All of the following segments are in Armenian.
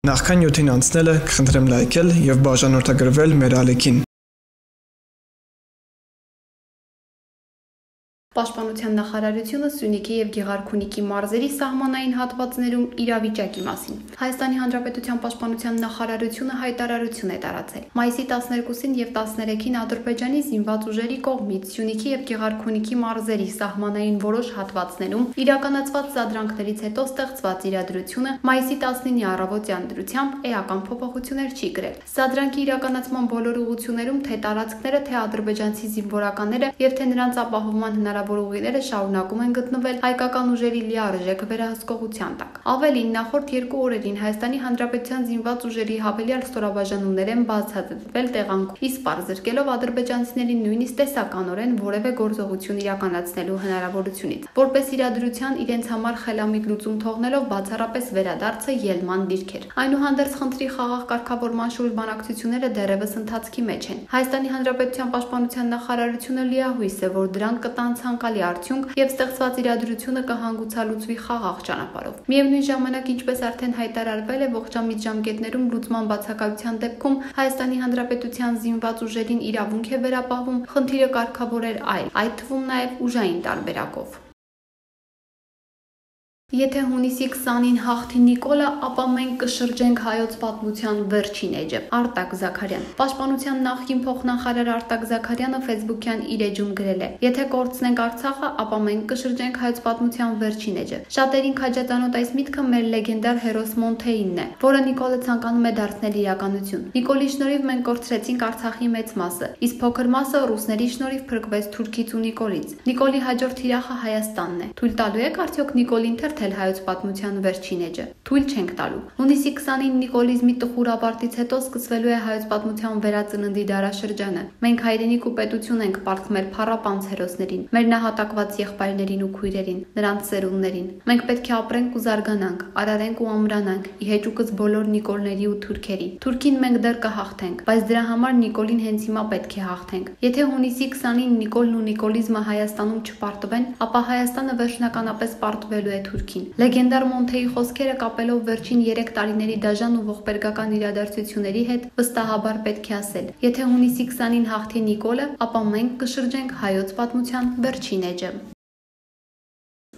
Նախքան նյութին անցնելը կխնդրեմ լայքել եւ բաժանորդագրվել մեր ալիքին։ Պաշտպանության նախարարությունը Սյունիքի եւ Գեղարքունիքի մարզերի սահմանային հատվածներում իրավիճակի մասին։ Հայաստանի Հանրապետության Պաշտպանության նախարարությունը հայտարարություն է տարածել։ Մայիսի 12-ին եւ 13-ին Ադրբեջանի զինված ուժերի կողմից Սյունիքի եւ Գեղարքունիքի մարզերի սահմանային որոշ հատվածներում իրականացված սադրանքներից հետո ստեղծված իրադրությունը մայիսի 19-ի առավոտյան դրությամբ էական փոփոխություններ չի կրել։ Սադրանքի իրականացման բոլոր ուղղություններում թե տարածքները, թե ադրբեջանցի զինվորականները եւ թե նրանց ապահովման հնարավորությունները շարունակում են գտնվել հայկական ուժերի լիարժեք վերահսկողության տակ։ Ավելին, նախորդ 2 օրերին Հայաստանի Հանրապետության զինված ուժերի հավելյալ ստորաբաժանումներ են բացահայտվել տեղանքում, իսկ պարզրկելով ադրբեջանցիներին նույնիսկ տեսականորեն որևէ գործողություն իրականացնելու հնարավորությունից։ Որպես իրադրության իրենց համար խելամիտ լուծում թողնելով բացառապես վերադարձը ելման դիրք էր։ Այնուհանդերձ խնդրի խաղաղ կարգավորման շուրջ բանակցությունները դեռևս ընթացքի մեջ են։ Հայաստանի Հանրապետության Պաշտպանության նախարարությունը լիահույս է, որ դրանք կտան ցանկալի արդյունք եւ ստեղծված իրադրությունը կհանգուցալուծվի խաղաղ ճանապարհով։ Միևնույն ժամանակ, ինչպես արդեն հայտարարվել է, ողջամիտ ժամկետներում լուծման բացակայության դեպքում Հայաստանի Հանրապետության զինված ուժերին իրավունք է վերապահվում խնդիրը կարգավորել այլ, այդ թվում նաեւ ուժային տարբերակով։ Եթե հունիսի 20-ին հաղթի Նիկոլը, ապա մենք կշրջենք հայոց պատմության վերջին էջը։ Արտակ Զաքարյան։ Պաշտպանության նախկին փոխնախարար Արտակ Զաքարյանը Facebook-յան իր էջում գրել է. «Եթե կորցնենք Արցախը, ապա մենք կշրջենք հայոց պատմության վերջին էջը»։ Շատերին քաջատանոտ այս միտքը մեր լեգենդար հերոս Մոնթեինն է, որը Նիկոլը ցանկանում է դարձնել իրականություն։ Նիկոլի շնորհիվ մենք կորցրեցինք Արցախի մեծ մասը, իսկ փոքր մասը ռուսների շնորհիվ փրկվեց թուրքից ու Նիկոլից։ Նիկոլի հաջորդ թիրախը Հայաստանն է։ Թույլ տալու եք արդյոք Նիկոլին հայոց պատմության վերջին էջը։ Թույլ չենք տալու։ Հունիսի 20-ին նիկոլիզմի տխուր ավարտից հետո սկսվելու է հայոց պատմության վերածննդի դարաշրջանը։ Մենք հայրենիք ու պետություն ենք պարտք մեր փառապանծ հերոսներին, մեր նահատակված եղբայրներին ու քույրերին, նրանց ծերուններին։ Մենք պետք է ապրենք ու զարգանանք, արարենք ու ամրանանք, ի հեճուկս բոլոր նիկոլների ու թուրքերի։ Թուրքին մենք դեռ կհաղթենք, բայց դրա համար Նիկոլին հենց հիմա պետք է հաղթենք։ Եթե հունիսի 20-ին Նիկոլն ու նիկոլիզմը Հայաստանում չպարտվեն, ապա Հայաստանը վերջնականապես պարտվելու է Թուրքին։ Լեգենդար Մոնթեի խոսքերը կապելով վերջին 3 տարիների դաժան ու ողբերգական իրադարձությունների հետ վստահաբար պետք է ասել. եթե հունիսի 20-ին հաղթի Նիկոլը, ապա մենք կշրջենք հայոց պատմության վերջին էջը։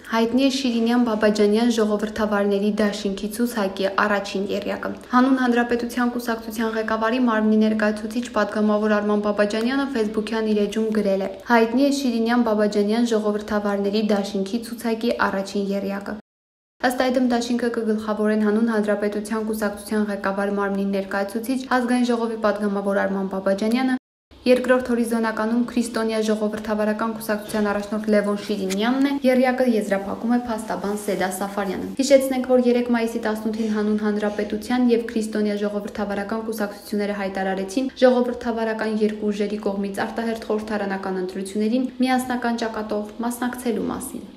Հայտնի է Շիրինյան Բաբաջանյան ժողովրդավարների դաշինքի ցուցակի առաջին եռյակը։ Հանուն Հանրապետության կուսակցության ղեկավարի մարմնի ներկայացուցիչ պատգամավոր Արման Բաբաջանյանը Facebook-յան իր էջում գրել է. «Հայտնի է Շիրինյան Բաբաջանյան ժողովրդավարների դաշինքի ցուցակի առաջին եռյակը»։ Ըստ այդմ դաշինքը կգլխավորեն հանուն Հանրապետության կուսակցության ղեկավար մարմնի ներկայացուցիչ ազգային ժողովի պատգամավոր Արման Բաբաջանյանը, երկրորդ հորիզոնականում Քրիստոնյա ժողովրդավարական կուսակցության առաջնորդ Լևոն Շիրինյանն է, եռյակը եզրափակում է փաստաբան Սեդա Սաֆարյանը։ Հիշեցնենք, որ 3 մայիսի 18-ին հանուն Հանրապետության եւ Քրիստոնյա ժողովրդավարական կուսակցությունները հայտարարեցին ժողովրդավարական երկու ուժերի կողմից արտահերթ խորհրդարանական ընտրություններին միասնական ճակատով մասնակցելու մասին։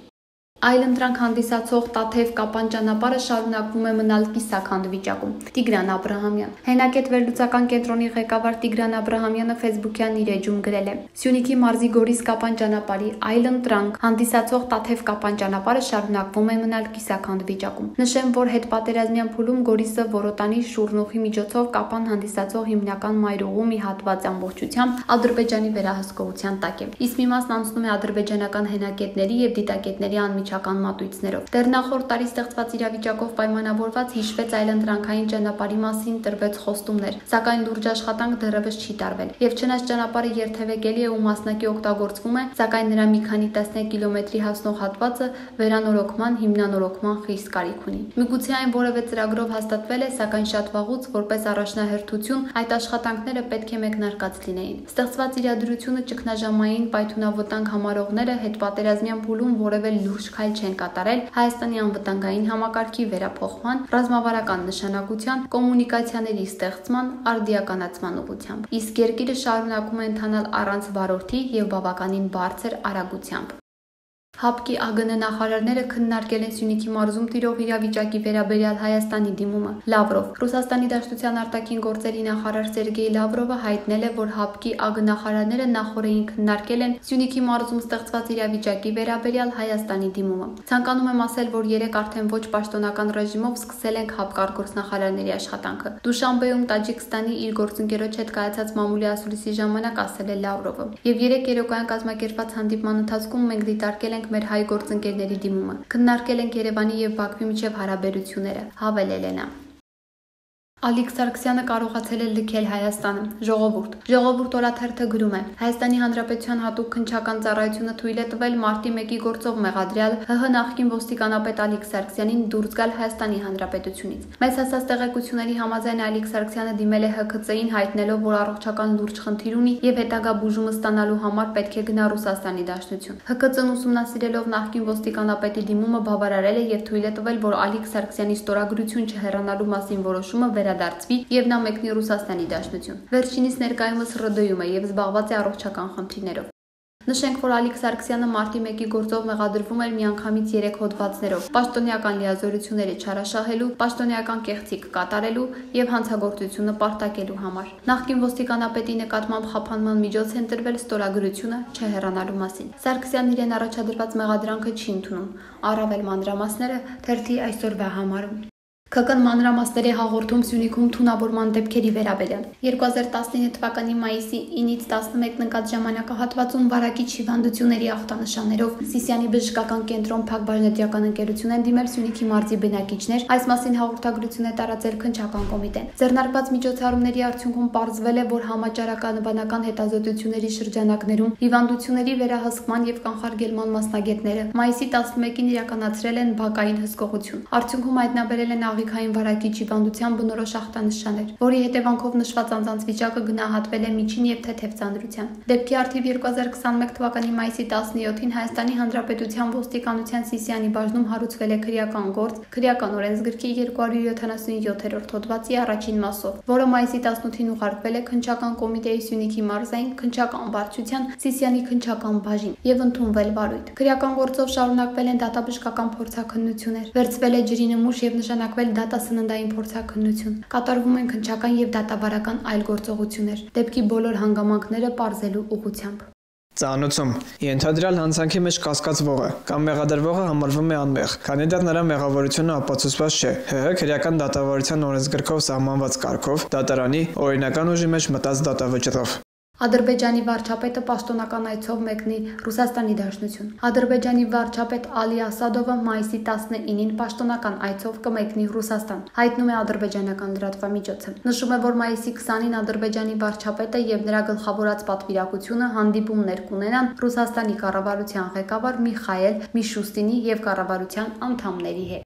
Այլընտրանք հանդիսացող Տաթև Կապան ճանապարհը շարունակվում է մնալ կիսաքանդ վիճակում։ Տիգրան Աբրահամյան։ Հենակետ վերլուծական կենտրոնի ղեկավար Տիգրան Աբրահամյանը Facebook-յան իր էջում գրել է. «Սյունիքի մարզի Գորիս Կապան ճանապարհի այլընտրանք հանդիսացող Տաթև Կապան ճանապարհը շարունակվում է մնալ կիսաքանդ վիճակում։ Նշեմ, որ հետպատերազմյան փուլում Գորիսը Որոտանի Շուռնուխի միջոցով Կապան հանդիսացող հիմնական մայրուղու մի հատված ամբողջությամբ Ադրբեջանի վերահսկողության տակ է։ Իսկ մի մասն անցնում է ադրբեջանական հենակետների եւ դիտակետների անմիջական մատույցներով։ Դեռ նախորդ տարի ստեղծված իրավիճակով պայմանավորված հիշվեց այլընտրանքային ճանապարհի մասին տրվեց խոստումներ, սակայն լուրջ աշխատանք դեռևս չի տարվել։ Եվ չնայած ճանապարհը երթևեկելի է ու մասնակի օգտագործվում է, սակայն նրա մի քանի տասնյակ կիլոմետրի հասնող հատվածը վերանորոգման, հիմնանորոգման խիստ կարիք ունի։ Միգուցե այն որևէ ծրագրով հաստատվել է, սակայն շատ վաղուց որպես առաջնահերթություն այդ աշխատանքները պետք է մեկնարկած լինեին։ Ստեղծված իրադրությունը ճգնաժամային պայթունավտանգ համարողները հետպատերազմյան փուլում որևէ լուրջ քայլ չեն կատարել Հայաստանի անվտանգային համակարգի վերափոխման, ռազմավարական նշանակության, կոմունիկացիաների ստեղծման, արդիականացման ուղղությամբ։ Իսկ երկիրը շարունակում է ընթանալ առանց վարորդի եւ բավականին բարձր արագությամբ։ ՀԱՊԿ-ի ԱԳՆ նախարարները քննարկել են Սյունիքի մարզում տիրող իրավիճակի վերաբերյալ Հայաստանի դիմումը։ Լավրով Ռուսաստանի Դաշնության արտաքին գործերի նախարար Սերգեյ Լավրովը հայտնել է, որ ՀԱՊԿ-ի ԱԳ նախարարները նախորդին քննարկել են Սյունիքի մարզում ստեղծված իրավիճակի վերաբերյալ Հայաստանի դիմումը։ Ցանկանում եմ ասել, որ երեք արդեն ոչ պաշտոնական ռեժիմով սկսել ենք ՀԱՊԿ արտգործնախարարների աշխատանքը։ Դուշանբեում Տաջիկստանի իր գործընկերոջ հետ կայացած մամուլի ասուլիսի ժամանակ ասել է Լավրովը։ Եվ երեք երեկոյան կազմակերպված հանդիպման ընթացքում մենք դիտարկել ենք մեր հայ գործընկերների դիմումը։ Քննարկել ենք Երևանի եւ Բաքվի միջև հարաբերությունները, հավելել է նա։ Ալիկ Սարգսյանը կարողացել է լքել Հայաստանը։ Ժողովուրդ օրաթերթը գրում է. Հայաստանի Հանրապետության հատուկ քննչական ծառայությունը թույլ է տվել մարտի 1-ի գործով մեղադրյալ ՀՀ նախկին ոստիկանապետ Ալիկ Սարգսյանին դուրս գալ Հայաստանի Հանրապետությունից։ Մեծ հասած տեղեկությունների համաձայն Ալիկ Սարգսյանը դիմել է ՀՔՑ-ին հայտնելով, որ առողջական լուրջ խնդիր ունի եւ հետագա բուժումը ստանալու համար պետք է գնա Ռուսաստանի Դաշնություն։ ՀՔՑ-ն ուսումնասիրելով նախկին ոստիկանապետի դիմումը բավարարել է եւ թույլ է տվել, որ Ալիկ Սարգսյանի ստորագրություն չհեռանալու մասին որոշումը վերադարձվի եւ նա մեկնի Ռուսաստանի Դաշնություն։ Վերջինիս ներկայումս ՌԴ-ում է եւ զբաղված է առողջական խնդիրներով։ Նշենք, որ Ալիկ Սարգսյանը մարտի 1-ի գործով մեղադրվում էր միանգամից 3 հոդվածներով՝ պաշտոնեական լիազորությունների չարաշահելու, պաշտոնեական կեղծիք կատարելու եւ հանցագործությունը պարտակելու համար։ Նախկին ոստիկանապետի նկատմամբ խափանման միջոց են տրվել ստորագրությունը չհեռանալու մասին։ Սարգսյանն իրեն առաջադրված մեղադրանքը չի ընդունում։ Առավել մանրամասները թերթի այսօրվա համարում։ ՔԿ-ն մանրամասների հաղորդում Սյունիքում թունավորման դեպքերի վերաբերյալ 2019 թվականի մայիսի 9-ից 11 ընկած ժամանակահատվածում վարակիչ հիվանդությունների ախտանշաններով Սիսիանի բժշկական կենտրոն Փակbaşնետիական ընկերություն են դիմել Սյունիքի մարզի բնակիչներ, այս մասին հաղորդագրություն է տարածել քննչական կոմիտեն։ Ձեռնարկված միջոցառումների արդյունքում պարզվել է, որ համաճարականաբանական հետազոտությունների շրջանակներում հիվանդությունների վերահսկման եւ կանխարգելման մասնագետները մայիսի 11-ին իրականացրել են բակային հսկողություն։ Արդյունքում հայտնաբերել են աղիքային վարակիչ հիվանդության բնորոշ ախտանշաններ, որի հետևանքով նշված անձանց վիճակը գնահատվել է միջին եւ թեթև ծանրության։ Դեպքի առթիվ 2021 թվականի մայիսի 17-ին Հայաստանի Հանրապետության ոստիկանության Սիսիանի բաժնում հարուցվել է քրեական գործ քրեական օրենսգրքի 277-րդ հոդվածի առաջին մասով, որը մայիսի 18-ին ուղարկվել է քննչական կոմիտեի Սյունիքի մարզային քննչական վարչության Սիսիանի քննչական բաժին եւ ընդունվել վարույթ։ Քրեական գործով շարունակվել են դատաբժշկական փորձաքննություններ, վերցվել է ջրի նմուշ եւ նշանակվել դատասննդային փորձաքննություն։ Կատարվում են քննչական եւ դատավարական այլ գործողություններ, դեպքի բոլոր հանգամանքները պարզելու ուղղությամբ։ Ծանոթում ենթադրյալ հանցանքի մեջ կասկածվողը կամ մեղադրվողը համարվում է անմեղ, քանի դեռ նրա մեղավորությունը ապացուցված չէ ՀՀ քրեական դատավարության օրենսգրքով սահմանված կարգով դատարանի օրինական ուժի մեջ մտած դատավճռով։ Ադրբեջանի վարչապետը պաշտոնական այցով մեկնի Ռուսաստանի Դաշնություն։ Ադրբեջանի վարչապետ Ալի Ասադովը մայիսի 19-ին պաշտոնական այցով կմեկնի Ռուսաստան, հայտնում է ադրբեջանական լրատվամիջոցը։ Նշում է, որ մայիսի 20-ին Ադրբեջանի վարչապետը եւ նրա գլխավորած պատվիրակությունը հանդիպումներ կունենան Ռուսաստանի կառավարության ղեկավար Միխայել Միշուստինի եւ կառավարության անդամների հետ։